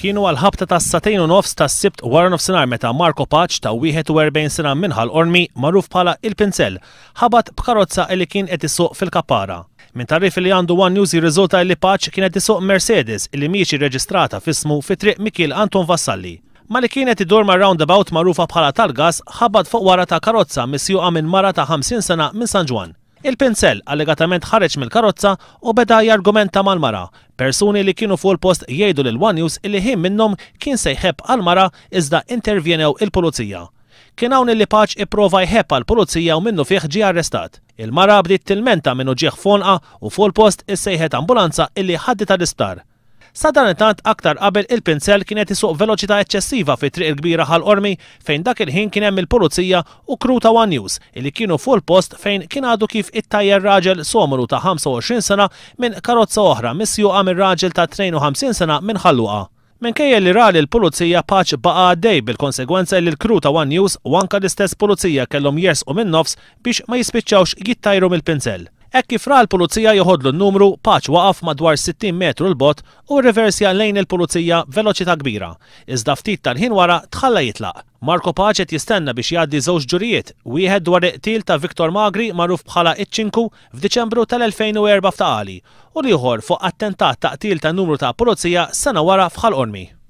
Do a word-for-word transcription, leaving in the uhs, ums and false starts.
Kienu għal ħabta ta' sagħtejn u nofs ta' Sibt wara nofsinhar meta Marco Pace ta' wieħed u erbgħin sena minn Ħal Qormi, magħruf bħala Il-Pinsel, ħabat b'karozza li kien qed isuq fil-Kappara. Minn tagħrif li għandu One News jirriżulta li Pace kien qed isuq Mercedes li mhijiex irreġistrata f'ismu fi Triq Mikiel Anton Vassalli. Malli kien qed idur ma' roundabout magħrufa bħala tal-gas, ħabat fuq wara ta' karozza misjuqa minn mara ta' ħamsin sena minn San Ġwann. Il-Pinsel allegatament ħareġ mill-karozza u beda jargumenta mal-mara. Persuni li kienu fuq il-post jgħidu lil One News illi ħin minnhom kien se jħebb għal-mara, iżda intervjenew il-pulizija. Kien hawn li Pace ipprova jħebb għal-pulizija u minnufih ġie arrestat. Il-mara bdiet tilmenta minn uġigħ f'għonqha u fuq il-post issejħet ambulanza illi ħaditha l-isptar. Sadanittant, aktar qabel, Il-Pinsel kien qed isuq veloċità eċċessiva fi Triq il-Kbira Ħal Qormi, fejn dak il-ħin kien hemm il-pulizija u crew ta' One News illi kienu fuq il-post fejn kien għadu kif ittajjer raġel Somalu ta' ħamsa u għoxrin sena minn karozza oħra misjuqa minn raġel ta' tnejn u ħamsin sena minn Ħal Luqa. Minkejja li ra l-pulizija, Pace baqa' għaddej, bil-konsegwenza li l-crew ta' One News u anka l-istess pulizija kellhom jersqu minn nofs biex ma jispiċċawx jittajru mill-Pinsel. Hekk kif ra l-pulizija joħodlu n-numru, Pace waqaf madwar sittin metru 'l bogħod u reversja lejn il-pulizija veloċità kbira. Iżda ftit tal-ħin wara tħalla jitlaq. Marco Pace qed jistenna biex jgħaddi żewġ ġurijiet, wieħed dwar qtil ta' Victor Magri, magħruf bħala Iċ-Ċinku, f'Diċembru tal-elfejn u erbgħa f'Ta' Qali, u l-ieħor fuq attentat ta' qtil ta' numru ta' pulizija sena wara f'Ħal Qormi.